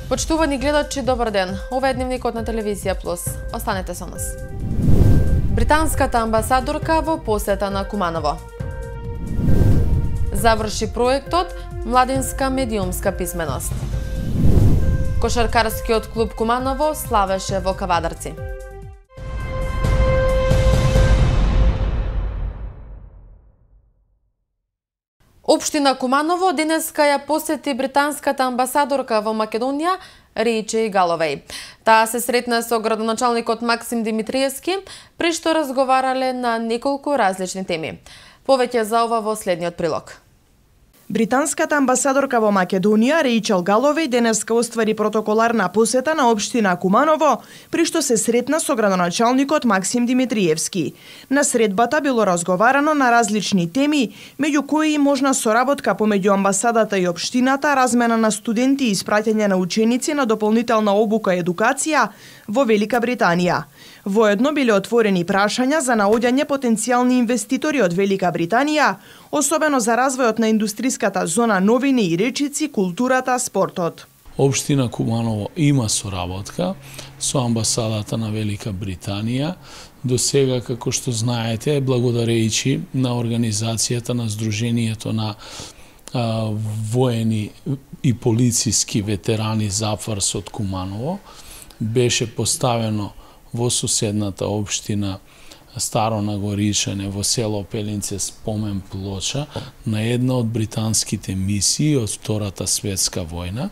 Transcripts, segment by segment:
Почитувани гледачи, добар ден. Ова е дневникот на Телевизија Плюс. Останете со нас. Британската амбасадорка во посета на Куманово. Заврши проектот Младинска медиумска писменост. Кошаркарскиот клуб Куманово славеше во Кавадарци. Општина Куманово денеска ја посети британската амбасадорка во Македонија Реичи Галовеј. Таа се сретна со градоначалникот Максим Димитриевски, при што разговарале на неколку различни теми. Повеќе за ова во следниот прилог. Британската амбасадорка во Македонија Реичел Галовеј денеска оствари протоколарна посета на општина Куманово, при што се сретна со градоначалникот Максим Димитриевски. На средбата било разговарано на различни теми, меѓу кои и можна соработка помеѓу амбасадата и општината, размена на студенти и испраќање на ученици на дополнителна обука и едукација во Велика Британија. Воедно биле отворени прашања за наоѓање потенцијални инвеститори од Велика Британија, особено за развојот на индустриската зона новини и речици, културата, спортот. Општина Куманово има соработка со амбасадата на Велика Британија. До сега, како што знаете, благодарејќи на организацијата на Сдруженијето на воени и полициски ветерани Зафарс од Куманово, беше поставено во соседната општина Старо Нагоричане во село Пелинце спомен плоча на една од британските мисии од Втората светска војна.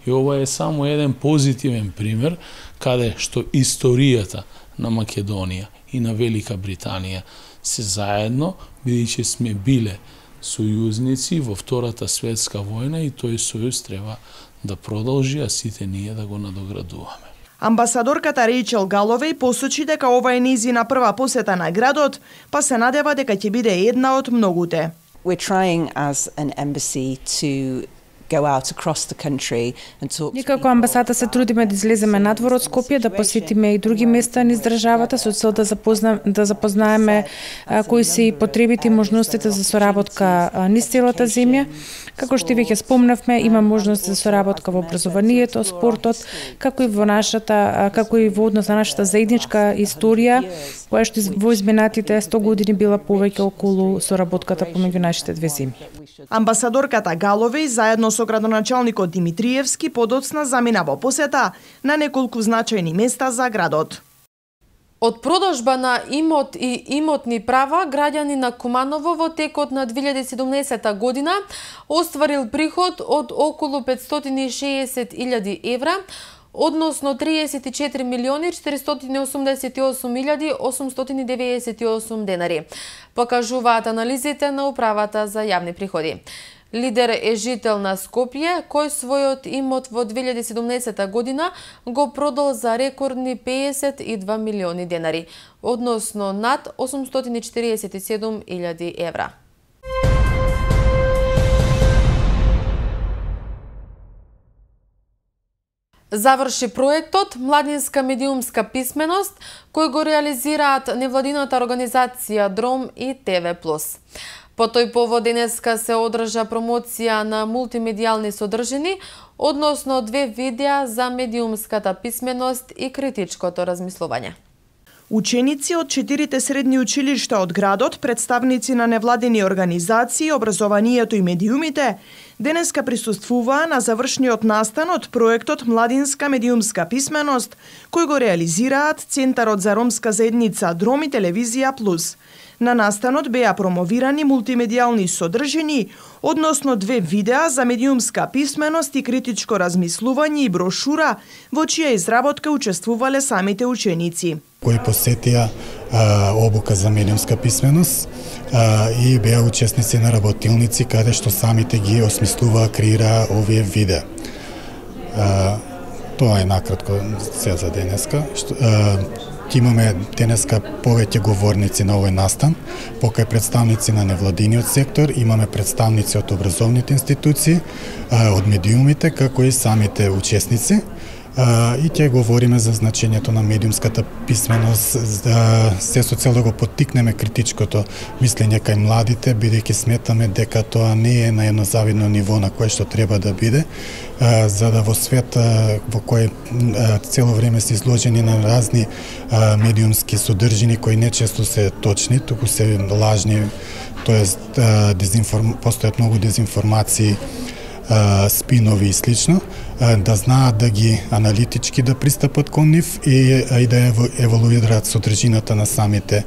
И ова е само еден позитивен пример каде што историјата на Македонија и на Велика Британија се заедно, бидејќи сме биле сојузници во Втората светска војна и тој сојуз треба да продолжи, а сите ние да го надоградуваме. Амбасадорката Реичел Галовеј посочи дека ова е нејзина прва посета на градот, па се надева дека ќе биде една од многуте. We're trying as an embassy to go out across the country and talk. Ние како амбасада се трудиме да излеземе надвор од Скопје, да посетиме и други места низ државата со цел да запознаеме кои се и потребите и можностите за соработка низ целата земја. Како што веќе спомнавме, има можност за соработка во образованието, спортот, како и во однос на нашата заедничка историја, која што во изминатите 100 години била повеќе околу соработката помеѓу нашите две земји. Амбасадорката Галовеј заедно со градоначалникот Димитриевски подоцна замина во посета на неколку значајни места за градот. Од продажба на имот и имотни права, граѓани на Куманово во текот на 2017 година остварил приход од околу 560.000 евра, односно 34.488.898 денари, покажуваат анализите на Управата за јавни приходи. Лидер е жител на Скопје, кој својот имот во 2017 година го продал за рекордни 52 милиони денари, односно над 847.000 евра. Заврши проектот Младинска медиумска писменост, кој го реализираат невладината организација Дром и ТВ+. По тој повод денеска се одржа промоција на мултимедијални содржини, односно 2 видеа за медиумската писменост и критичкото размислување. Ученици од 4 средни училишта од градот, представници на невладени организации, образованието и медиумите, денеска присуствуваа на завршниот настан од проектот Младинска медиумска писменост, кој го реализираат Центарот за ромска заедница Дром и Телевизија Плюс. На настанот беа промовирани мултимедијални содржини, односно 2 видеа за медиумска писменост и критичко размислување и брошура, во чија изработка учествувале самите ученици. Кои посетија обука за медиумска писменост и беа учесници на работилници каде што самите ги осмислуваа, креираа овие видеа. Тоа е накратко се за денеска. Имаме денеска повеќе говорници на овој настан, покај представници на невладиниот сектор, имаме представници од образовните институции, од медиумите, како и самите учесници. И ќе говориме за значењето на медиумската писменост, се со цел да го поттикнеме критичкото мислење кај младите, бидејќи сметаме дека тоа не е на едно завидно ниво на кое што треба да биде, за да во свет во кој цело време се изложени на разни медиумски содржини кои не често се точни, туку се лажни, тоест постојат многу дезинформации, спинови и слично, да знаат да ги аналитички да пристапат кон нив и да еволуираат содржината на самите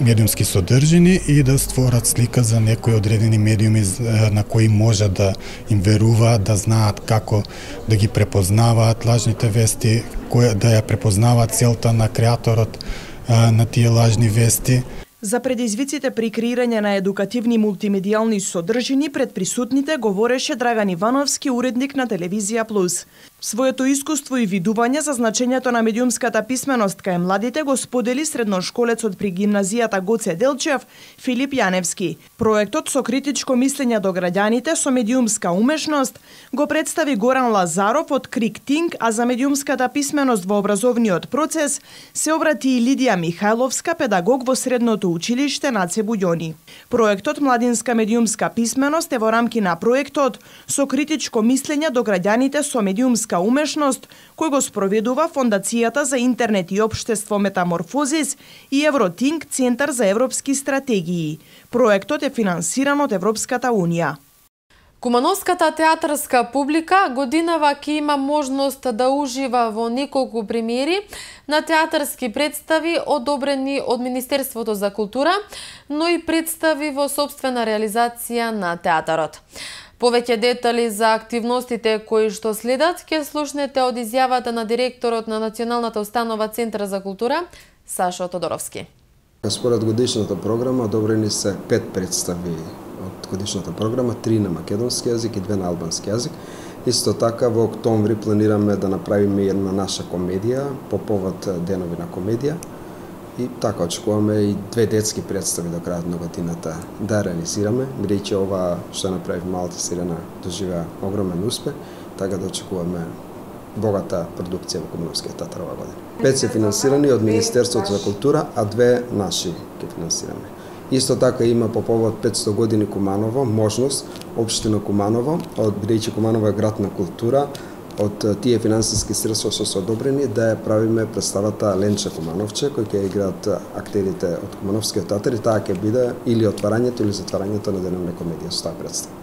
медиумски содржини и да створат слика за некои одредени медиуми на кои може да им веруваат, да знаат како да ги препознаваат лажните вести, да ја препознаваат целта на креаторот на тие лажни вести. За предизвиците при креирање на едукативни мултимедијални содржини пред присутните говореше Драган Ивановски, уредник на Телевизија Плюс. Своето искуство и видување за значењето на медиумската писменост кај младите го сподели средношколецот при гимназијата Гоце Делчев Филип Јаневски. Проектот со критичко мислење до граѓаните со медиумска умешност го представи Горан Лазаров од Крик Тинг, а за медиумската писменост во образовниот процес се обрати и Лидија Михајловска, педагог во средното училиште Наце Буѓони. Проектот Младинска медиумска писменост е во рамки на проектот со критичко мислење до граѓаните со медиумска умешност, кој го спроведува Фондацијата за интернет и општество Метаморфозис и Евротинг, Центар за европски стратегии. Проектот е финансиран од Европската Унија. Кумановската театарска публика годинава ќе има можност да ужива во неколку премиери на театарски представи одобрени од Министерството за култура, но и представи во сопствена реализација на театарот. Повеќе детали за активностите кои што следат ќе слушнете од изјавата на директорот на Националната установа Центар за култура Сашо Тодоровски. Според годишната програма одобрени се 5 представи од годишната програма, 3 на македонски јазик и 2 на албански јазик. Исто така во октомври планираме да направиме една наша комедија по повод денови на комедија. И така очекуваме и 2 детски представи до крајот на годината да реализираме, бидејќи ова што направи Малата сирена доживеа огромен успех, така да очекуваме богата продукција во Кумановскиот театар оваа година. 5 се финансирани од Министерството за култура, а 2 наши ќе финансираме. Исто така има по повод 500 години Куманово можност општина Куманово, бидејќи Куманово е град на култура, од тие финансиски средства што се одобрени да ја правиме представата Ленче Кумановче, кој ќе играат актерите од Кумановскиот театар и таа ќе биде или отварањето или затварањето на денот на комедија со таа представа.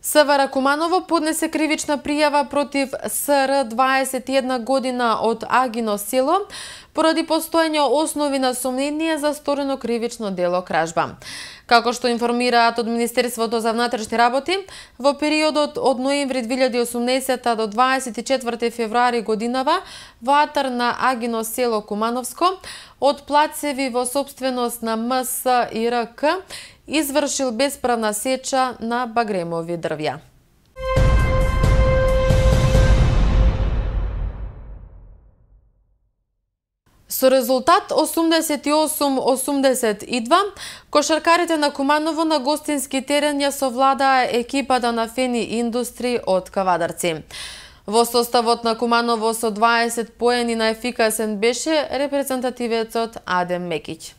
СВР Куманово поднесе кривична пријава против СР 21 година од Агино село поради постоење основи на сомнение за сторено кривично дело кражба. Како што информираат од Министерството за внатрешни работи, во периодот од ноември 2018 до 24 февруари годинава во атар на Агино село Кумановско од плацеви во сопственост на МС и РК извршил бесправна сеча на багремови дрвја. Со резултат 88-82, кошаркарите на Куманово на гостински терен ја совладаа екипата на Фени Индустри од Кавадарци. Во составот на Куманово со 20 поени најефикасен беше репрезентативецот Адем Мекиќ.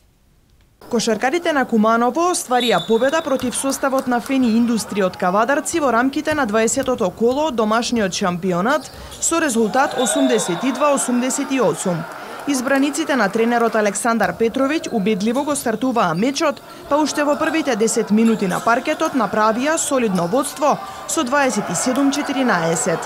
Кошаркарите на Куманово остварија победа против составот на Фени Индустри од Кавадарци во рамките на 20-тото коло од домашниот шампионат со резултат 82-88. Избраниците на тренерот Александар Петровиќ убедливо го стартуваа мечот, па уште во првите 10 минути на паркетот направија солидно водство со 27-14.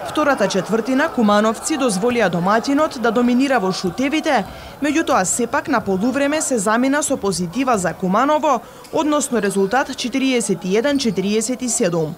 Втората четвртина кумановци дозволија домаќинот да доминира во шутевите, меѓутоа сепак на полувреме се замина со позитива за Куманово, односно резултат 41-47.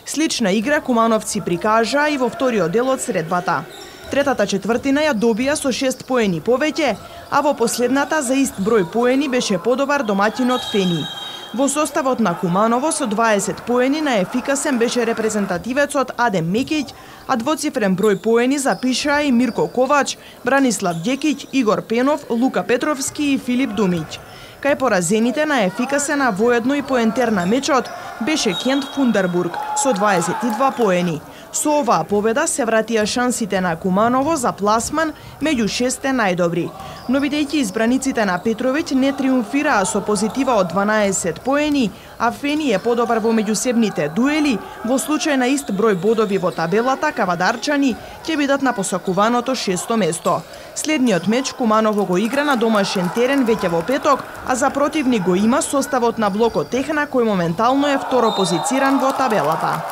Слична игра кумановци прикажаа и во вториот дел од средбата. Третата четвртина ја добија со 6 поени повеќе, а во последната за ист број поени беше подобар домаќинот Фени. Во составот на Куманово со 20 поени најефикасен беше репрезентативецот Адем Мекиќ, а двоцифрен број поени запишаа и Мирко Ковач, Бранислав Ѓекиќ, Игор Пенов, Лука Петровски и Филип Думиќ. Кај поразените најефикасена воедно и поентер на мечот беше Кент Фундербург со 22 поени. Со оваа победа се вратија шансите на Куманово за пласман меѓу 6 најдобри. Но бидејќи избраниците на Петровиќ не триумфираа со позитива од 12 поени, а Фени е подобар во меѓусебните дуели, во случај на ист број бодови во табелата, кавадарчани ќе бидат на посакуваното 6-то место. Следниот меч Куманово го игра на домашен терен веќе во петок, а за противник го има составот на блокот Техна, кој моментално е второ позициран во табелата.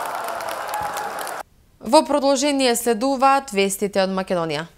Во продолжение следуваат вестите од Македонија.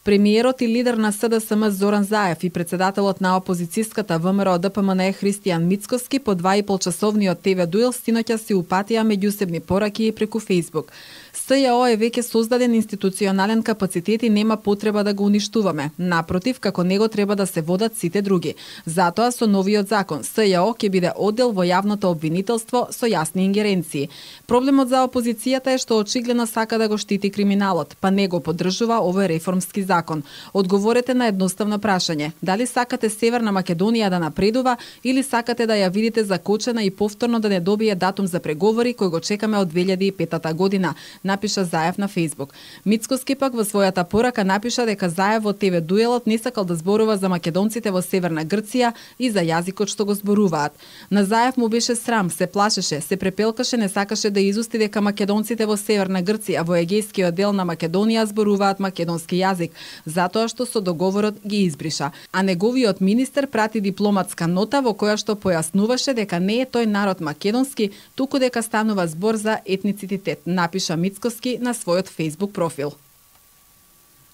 Премиерот и лидер на СДСМ Зоран Заев и председателот на опозицијската ВМРО ДПМН Христијан Мицкоски по 2,5-часовниот ТВ дуел стиноќа си упатија меѓусебни пораки преку Фејсбук. СЈО е веќе создаден институционален капацитет и нема потреба да го уништуваме. Напротив, како него треба да се водат сите други. Затоа со новиот закон СЈО ќе биде оддел во јавното обвинителство со јасни ингеренции. Проблемот за опозицијата е што очигледно сака да го штити криминалот, па не го поддржува овој реформски закон. Одговорете на едноставно прашање: дали сакате Северна Македонија да напредува или сакате да ја видите закочена и повторно да не добие датум за преговори кој го чекаме од 2005 година, напиша Заев на Фејсбук. Мицкоски пак во својата порака напиша дека Заев во ТВ дуелот не сакал да зборува за македонците во Северна Грција и за јазикот што го зборуваат. На Заев му беше срам, се плашеше, се препелкаше, не сакаше да изусти дека македонците во Северна Грција во егејскиот дел на Македонија зборуваат македонски јазик, затоа што со договорот ги избриша. А неговиот министер прати дипломатска нота во која што појаснуваше дека не е тој народ македонски, туку дека станува збор за етницитет, напиша Мицкоски на својот Facebook профил.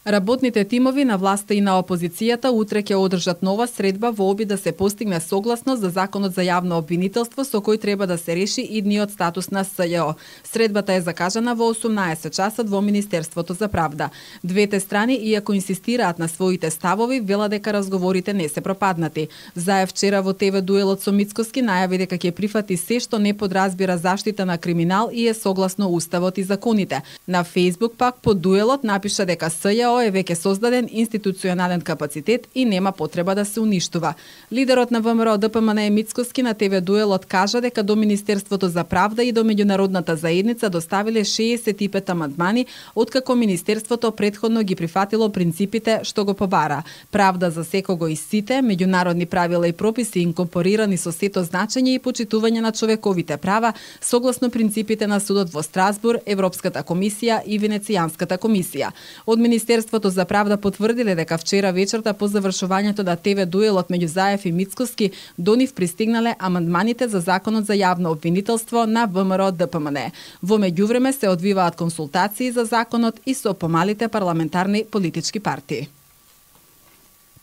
Работните тимови на власта и на опозицијата утре ќе одржат нова средба во обид да се постигне согласност за законот за јавно обвинителство со кој треба да се реши идниот статус на СЈО. Средбата е закажана во 18 часот во Министерството за правда. Двете страни, иако инсистираат на своите ставови, велат дека разговорите не се пропаднати. Заев вчера во ТВ дуелот со Мицкоски најави дека ќе прифати се што не подразбира заштита на криминал и е согласно уставот и законите. На Facebook пак по дуелот напиша дека СЈО е веќе создаден институционален капацитет и нема потреба да се уништува. Лидерот на ВМРО ДПМН Мицкоски на ТВ дуелот кажа дека до Министерството за правда и до меѓународната заедница доставиле 65 амандмани, откако Министерството претходно ги прифатило принципите што го побара: правда за секого и сите, меѓународни правила и прописи инкорпорирани со сето значење и почитување на човековите права, согласно принципите на судот во Страсбур, Европската комисија и Венецијанската комисија. Од Министерството за правда потврдиле дека вчера вечерта по завршувањето на ТВ дуелот меѓу Заев и Мицкоски до нив пристигнале амандманите за законот за јавно обвинителство на ВМРО ДПМН. Во меѓувреме се одвиваат консултации за законот и со помалите парламентарни политички партии.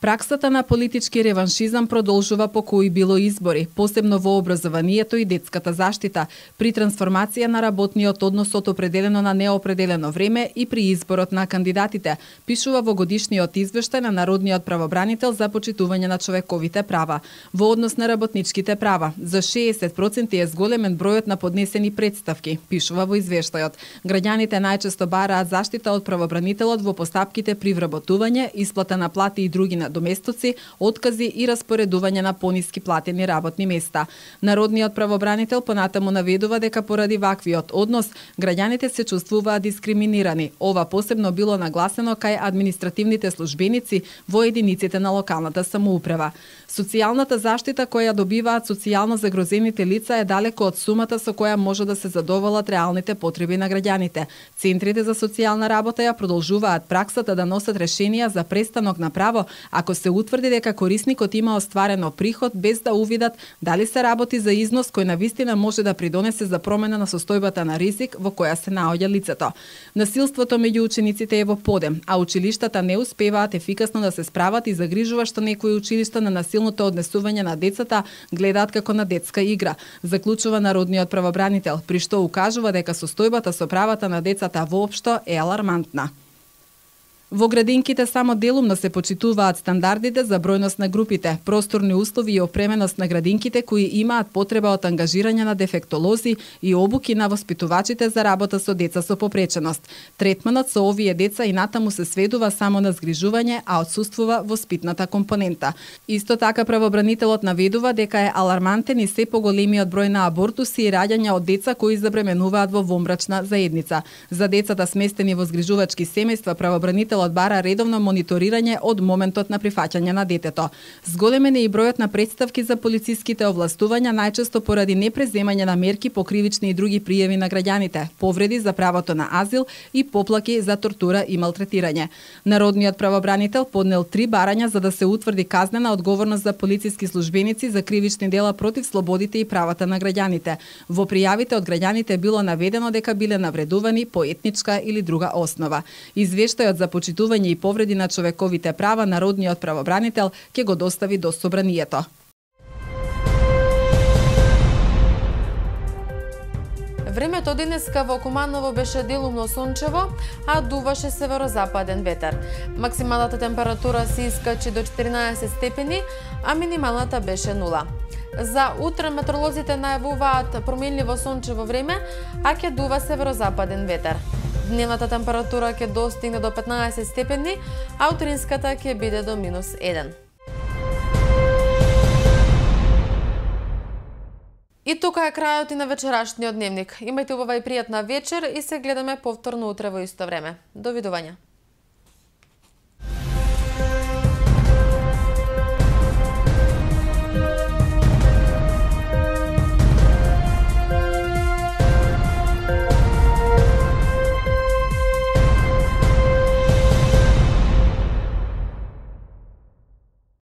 Праксата на политички реваншизам продолжува по кои било избори, посебно во образованието и детската заштита, при трансформација на работниот однос од определено на неопределено време и при изборот на кандидатите, пишува во годишниот извештај на Народниот правобранител за почитување на човековите права. Во однос на работничките права, за 60% е зголемен бројот на поднесени претставки, пишува во извештајот. Граѓаните најчесто бараат заштита од правобранителот во постапките при вработување, исплата на плати и други доместоци, откази и распоредување на пониски платени работни места. Народниот правобранител понатаму наведува дека поради ваквиот однос граѓаните се чувствуваат дискриминирани. Ова посебно било нагласено кај административните службеници во единиците на локалната самоуправа. Социјалната заштита која добиваат социјално загрозените лица е далеко од сумата со која може да се задоволат реалните потреби на граѓаните. Центрите за социјална работа ја продолжуваат праксата да носат решенија за престанок на право ако се утврди дека корисникот има остварено приход без да увидат дали се работи за износ кој навистина може да придонесе за промена на состојбата на ризик во која се наоѓа лицето. Насилството меѓу учениците е во подем, а училиштата не успеваат ефикасно да се справат и загрижува што некои училишта на насилното однесување на децата гледаат како на детска игра, заклучува Народниот правобранител, при што укажува дека состојбата со правата на децата воопшто е алармантна. Во градинките само делумно се почитуваат стандардите за бројност на групите, просторни услови и опременост на градинките кои имаат потреба од ангажирање на дефектолози и обуки на воспитувачите за работа со деца со попреченост. Третманот со овие деца и натаму се сведува само на згрижување, а отсуствува воспитната компонента. Исто така правобранителот наведува дека е алармантен и се поголемиот број на абортуси и раѓања од деца кои забременуваат во вонбрачна заедница. За децата сместени во згрижувачки семејства правобранителот бара редовно мониторирање од моментот на прифаќање на детето. Зголемен е и бројот на претставки за полициските овластувања, најчесто поради непреземање на мерки по кривични и други пријави на граѓаните, повреди за правото на азил и поплаки за тортура и малтретирање. Народниот правобранител поднел 3 барања за да се утврди казнена одговорност за полициски службеници за кривични дела против слободите и правата на граѓаните. Во пријавите од граѓаните било наведено дека биле навредувани по етничка или друга основа. Извештајот за почитување и повреди на човековите права народниот правобранител ќе го достави до собранието. Времето денеска во Куманово беше делумно сончево, а дуваше северозападен ветер. Максималната температура се искачи до 14 степени, а минималната беше 0. За утре метеоролозите најавуваат променливо сончево време, а ќе дува северозападен ветер. Дневната температура ќе достигне до 15 степени, а утринската ќе биде до -1. И тука е крајот и на вечерашниот дневник. Имајте убава и пријатна вечер и се гледаме повторно утре во исто време. Довидување.